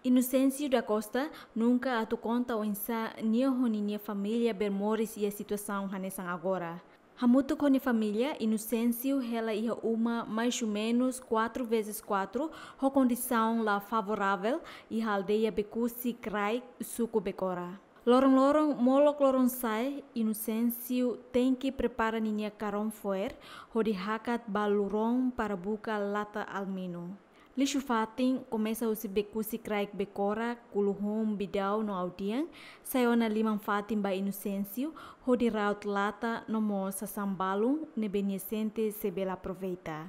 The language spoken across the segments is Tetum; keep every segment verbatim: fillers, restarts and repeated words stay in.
Inocêncio da Costa nunka atu konta oinsá nia ho ninia família bele moris iha situasaun hanesan agora. Hamutuk ho nia família, Inocêncio hela iha uma mais ou menos quatro vezes quatro, ho kondisaun la favorável, iha aldeia Becusi Kraik, suku Becora. Loron-loron, molok loron sa'e, Inocêncio tenke prepara ninia karón fo'er, hodi hakat ba luron para buka lata alminu. Lixu-fatin komesa husi Becusi Kraik Becora, Kuluhun, Bidau no Audian, sai ona liman-fatin ba Inocêncio, hodi ra'ot lata no mós sasán balun ne'ebé nia sente sei bele aproveita.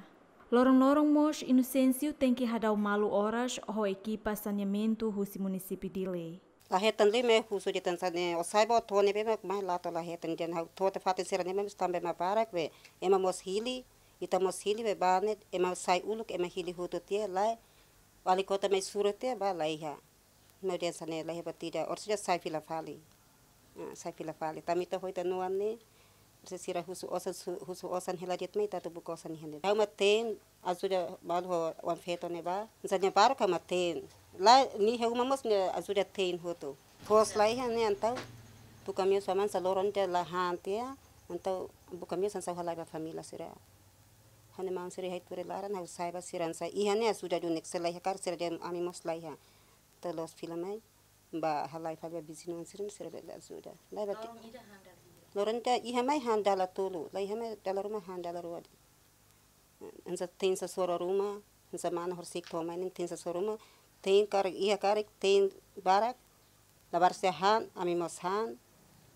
Loron-loron mós Inocêncio tenke hadau malu oras ho ekipa saneamentu husi munisípiu Dili. La hetan liu mak husu de'it hanesan ne'e, ó sai ba ó to'o ne'ebé mak mai lata, la hetan. Dehan ha'u to'o tiha fatin sira-ne'e mak tanba ema barak be, ema mós hili, ita mós hili be, ba ne'e ema sai uluk, ema hili hotu tiha, lae, wali kota mai sura tiha ba laiha. Ema dehan hanesan ne'e, laiha buat ida, orsida sai fila fali. Ah, sai fila fali. Tanba ita hotu-noan ne'e, se sira husu osan, su-, husu osan hela de'it mai, ita atu buka osan iha ne'e. Ha'u mak te'in, ajuda malu ho oan-feto ne'e ba. Hanesan ne'e baru ka mak te'in. Lae, nia iha uma mós nia ajuda te'in hotu. Foos laiha ne'e entaun. Buka meius hanesan loron ida la han tiha. Entaun buka meius hanesan halai ba família sira. Ha'u-nia maun sira iha tuir laran, ha'u sai ba sira hanesan. Iha ne'e ajuda duni, se laiha karik sira dehan ami mós laiha. Entaun la'ós fila mai. Ba halai fali ba viziñu sira, sira bele ajuda. Lae ba ti-, loron ida han dala hira? Loron ida iha mai han dala tolu, la iha mai dala ruma han dala rua de'it. Hanesan te'in sasoro ruma, hanesan mana horisehik to'o mai ne'e te'in sasoro ruma, te'in karik iha karik, te'in barak, labarik sira han, ami mós han,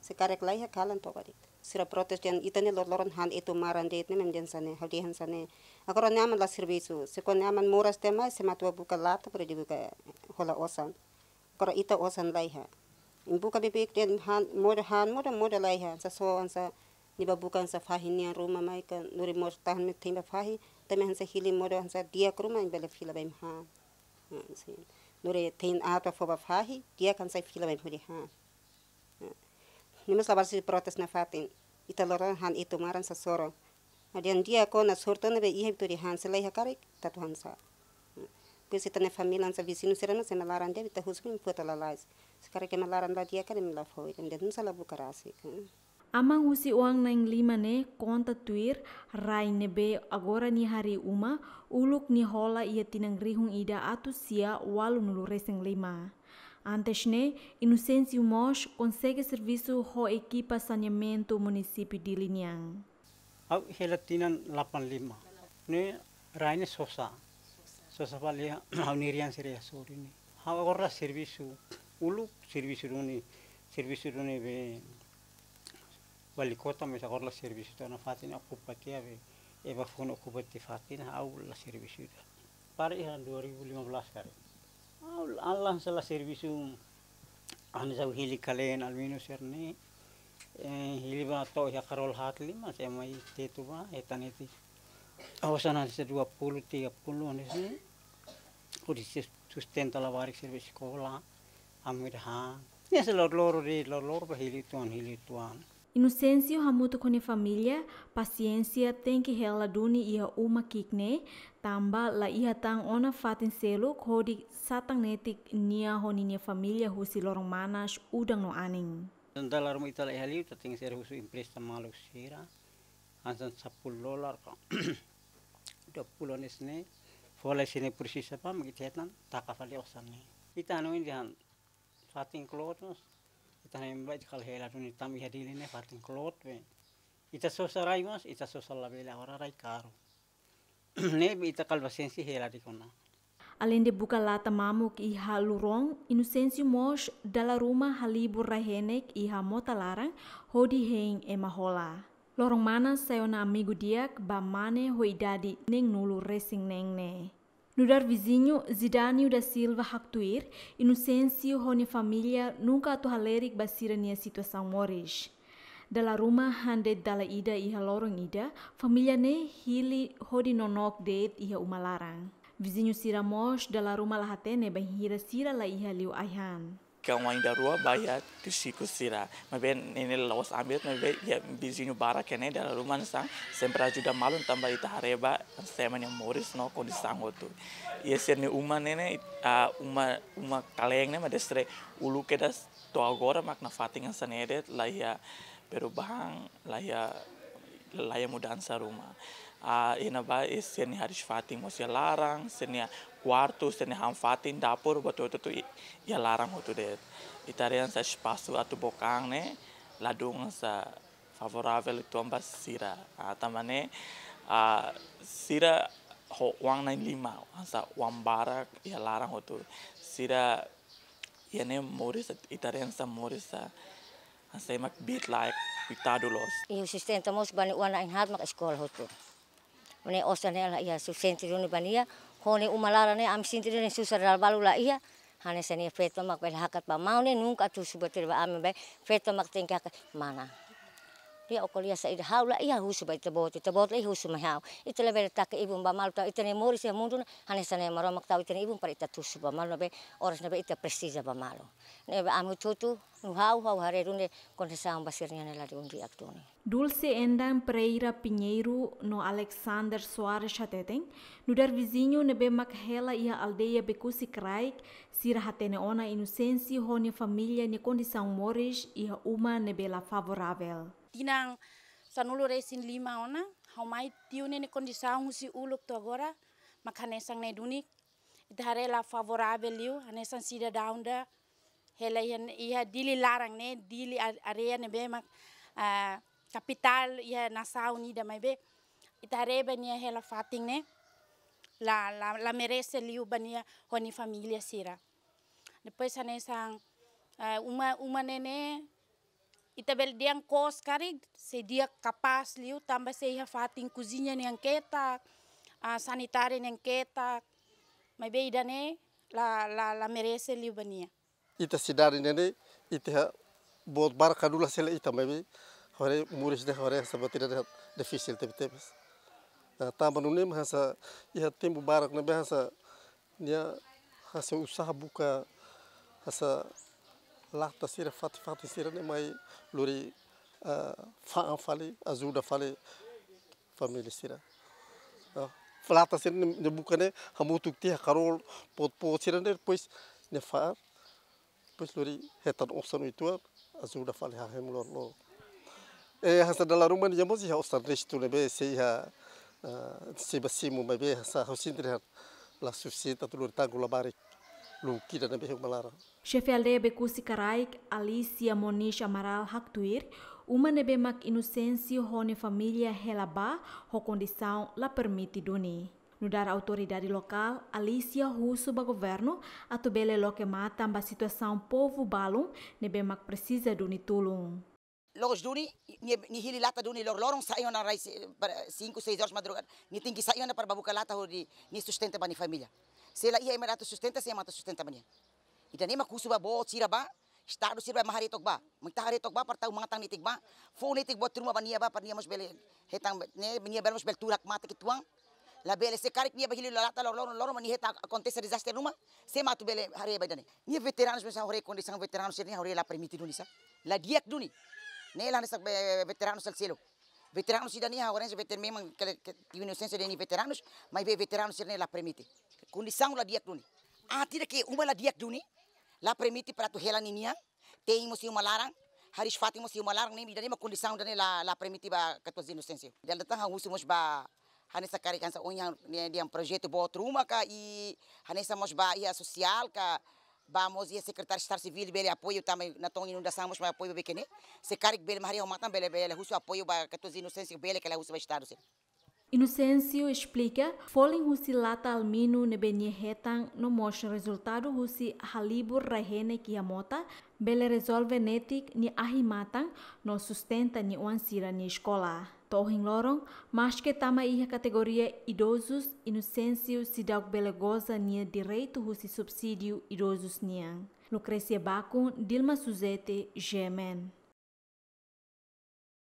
se karik laiha kalan toba de'it. Sira protes dehan ita ne'e loron-loron han etu maran de'it ne'e mak dehan hanesan ne'e, ha'u dehan hanesan ne'e. Agora nia aman la servisu, se kuandu nia aman moras tiha mai, se mak atu buka lata, para nia buka hola osan. Agora ita osan laiha. Imi buka beibeik de'it han, modo han, modo, modo laiha. Hanesan só, hanesan nia ba buka hanesan fahi nian ruma mai ka, lori mós tahan mak te'in ba fahi, tanba hanesan hili modo hanesan di'ak ruma imi bele fila ba imi han. Ah, sin. Lori te'in aat ba fó ba fahi, di'ak hanesan fila ba imi hodi han. Ah. Nia mós labarik sira protes nafatin. Ita loron han etu maran sasoro. Ha'u dehan di'ak ona sorte ne'ebé iha atu dehan se laiha karik, ita atu hanesan. Depois ita-nia família hanesan viziñu sira hanesan ema laran de'it, ita husu imi foti lalais. Se karik ema laran la di'ak karik imi la fó, ita dehan hanesan la buka rasik. Aman husi oan na'in-lima ne'e konta tuir rai ne'ebé agora nia harii uma, uluk nia hola iha tinan rihun ida atus sia ualunulu-resin-lima. Antes ne'e, Inocêncio mós konsege servisu ho ekipa saneamentu munisípiu Dili nian. Ha'u hela tinan delapan lima. Ne'e rai ne'e sosa. Sosa fali ha'u-nia rian sira iha sorin ne'e. Ha'u agora la servisu, uluk servisu duni, servisu duni be wali kota, mais agora la servisu, entaun nafatin okupa tiha be, ema foun okupa tiha fatin, ha'u la servisu ida. Para iha dua ribu lima belas karik. Ha'u la, la hanesan la servisu, hanesan hili kaleen alminu sira-ne'e, eh, hili ba to'o iha karol haat lima, se mai tetu ba, hetan netik. Osan hanesan dua puluh, tiga puluh, hanesan ne'e. Hodi sustenta labarik sira ba eskola, ami ida han. Ne'e se loron-loron de'it, loron-loron ba hili uitoan, hili uitoan. Inocêncio hamutuk ho nia família, pasiénsia tenke hela duni iha uma ki'ik ne'e, tanba la iha tan ona fatin seluk hodi satan netik nia ho ninia família husi loron manas, udan no anin. Dala ruma ita la iha liu, ita tenke ser husu empresta maluk sira. Hanesan sapuluh dolar ka dua puluh hanesan ne'e. Fó lai sira-ne'e presiza ba, mak ita hetan, taka fali osan ne'e. Ita hanoin dehan fatin kloot mós, ita hanoin ba ita kala hela duni tanba iha Dili ne'e fatin kloot be. Ita sosa rai mós, ita sosa labele, agora rai karu. Ne'ebé ita kala pasiénsia hela de'it ona. Aleinde buka lata mamuk iha luron, Inocêncio mós dala ruma halibur rai-henek iha mota laran hodi hein ema hola. Loron manas sai ona amigu di'ak ba mane ho idade neenulu-resin-neen ne'e. Nu'udar viziñu Zidânio da Silva haktuir, Inocêncio ho nia família nunka atu halerik ba sira-nia situasaun moris. Dala ruma han de'it dala ida iha loron ida, família ne'e hili hodi nonook de'it iha uma laran. Viziñu sira mós dala ruma la hatene bainhira sira la iha liu ai-han. kawan ida rua ba iha tiu Chico sira. Maibé ne'e la'ós ambiente, maibé iha viziñu barak ne'e dala ruma hanesan sempre ajuda malu tanba ita haree ba hanesan ema nia moris no kondisaun hotu. Iha sira-nia uma ne'e ne'e, ah, uma, uma kalean ne'e mak desde uluk kedas to'o agora mak nafatin hanesan ne'e de'it, la iha perubahan, la iha, la iha mudansa ruma. Ah, iha ne'ebá sira-nia hariis-fatin mós iha laran, sira-nia kuartu, sira-nia han-fatin, dapur, buat hotu-hotu i-, iha laran hotu de'it. Ita haree hanesan espasu atu book an ne'e ladún hanesan favoravel uitoan ba sira. Ah, tanba ne'e, ah, sira ho oan na'in-lima, hanesan oan barak iha laran hotu. Sira iha ne'e moris, ita haree hanesan moris, ah, hanesan ema kbiit-laek, koitadu loos. Iha sustenta mós ba nia oan na'in-haat mak eskola hotu. Ne'e osan ne'e la iha sustenta duni ba nia, ho nia uma laran ne'e ami sente duni susar dala balu la iha, hanesan nia feto mak bele hakat ba maun ne'e nunka atu husu buat ida ba ami, be feto mak tenke hakat mana. Nia ó ko'alia saida, ha'u la iha husu ba ita-boot, ita-boot la iha husu mai ha'u. Ita labele taka ibun ba malu tanba ita-nia moris iha mundu ne'e, hanesan ne'e Maromak tau ita-nia ibun para ita atu husu ba malu ne'ebé, oras ne'ebé ita presiza ba malu. Ne'ebé ami hotu-hotu, no ha'u, ha'u haree duni kondisaun ba sira-nian ne'e ladún di'ak duni. Dulce Endan Pereira Pinheiro no Alexander Soares hateten, nu'udar viziñu ne'ebé mak hela iha aldeia Becusse Kraik, sira hatene ona Inocêncio ho nia família nia kondisaun moris iha uma ne'ebé la favoravel. Tinan sanulu-resin-lima ona, ha'u mai tiu ne'e nia kondisaun husi uluk to'o agora mak hanesan ne'e duni. Ita haree la favoravel liu, hanesan sidadaun ida hela iha, iha Dili laran ne'e, Dili a-, área ne'ebé mak, ah, kapitál iha nasaun ida, maibé ita haree ba nia hela fatin ne'e la, la, la merese liu ba nia ho nia família sira. Depois hanesan, ah, uma, uma ne'e ne'e, ita bele dehan kos karik, sei di'ak kapás liu, tanba sei iha fatin kuziña nian ketak, ah, sanitáriu nian ketak, maibé ida-ne'e la, la, la merese liu ba nia. Ita sidade ne'e ne'e, ita iha boot barak ka dulas hela ita, maibé haree moris ne'e haree hanesan buat ida difisil tebetebes. Ah, tanba nune'e mak hanesan iha tempu barak ne'ebé hanesan nia hanesan usaha buka hanesan lata sira fatin-fatin sira ne'e mai lori, ah, fa'an fali, ajuda fali família sira. Ah, lata sira ne'e, ne'e buka ne'e hamutuk tiha karol, pot-pot sira ne'e, depois ne'e fa'an, depois lori hetan osan uitoan, ajuda fali hahemu loroloron. Eh, hanesan dala ruma nia mós iha osan restu ne'ebé sei iha, ah, sei ba simu maibé hanesan ha'u sente dehan la sufisiente atu lori tanggung labarik uluk ida ne'ebé iha uma laran. Xefe aldeia Becusse Kraik, Alicia Moniz Amaral haktuir, uma ne'ebé mak Inocêncio ho nia família hela ba, ho kondisaun la permite duni. Nu'udar autoridade lokál, Alicia husu ba governu atu bele loke matan ba situasaun povu balun ne'ebé mak presiza duni tulun. Loos duni, nia, nia hili lata duni loroloron, sai ona rai se-, para cinco, seis horas madrugada. Nia tenke sai ona para bá buka lata hodi nia sustenta ba nia família. Se la iha ema atu sustenta, sé mak atu sustenta ba nia? Ida-ne'e mak husu ba boot sira ba, Estadu sira ba mak haree took ba. Mak ita haree took ba, para tau matan netik ba. Fó netik buat ruma ba nia ba, para nia mós bele hetan, ne'e, nia bele mós bele tuur hakmatek uitoan. Labele se karik nia bá hili lata loroloron, loroloron mak nia hetan akontese dezastre ruma, sé mak atu bele haree ba ida-ne'e? Nia veteranus mós haree kondisaun veteranus sira-ne'e haree la permite duni sá. La di'ak duni. Ne'e la hanesan be-, veteranus sira seluk. Veteranus sira-ne'e haree veteranus memang ke, ke, Inocêncio dehan nia veteranus, maibé veteranus sira-ne'e la permite. Kondisaun la di'ak duni. Ah, tidak ke uma la di'ak duni, la permite para atu hela ninian, te'in mós iha uma laran, hariis-fatin mós iha uma laran, ne'e ida-ne'e mak kondisaun ida-ne'e la, la permite ba katuas Inocêncio. Dala ida tan ha'u husu mós ba hanesan karik hanesan ohin ne'e dehan projetu boot ruma ka i hanesan mós ba iha sosiál ka ba mós iha sekretáriu Estadu Sivíl bele apoiu tanba natoon inundasaun mós mai apoiu ba Becusse ne'e. Se karik bele mak haree ho matan bele, bele husu apoiu ba katuas Inocêncio bele ka lae husu ba Estadu sira. Inocêncio esplika, folin husi lata alumíniu ne'ebé nia hetan no mós rezultadu husi halibur rai-henek iha mota, bele rezolve netik nia ahi-matan no sustenta nia oan sira-nia eskola. To'o ohin loron, maske tama iha kategoria idozus, Inocêncio seidauk bele goza nia direitu husi subsídiu idozus nian. Lucrécia Bacon, Dilma Suzete, G M N.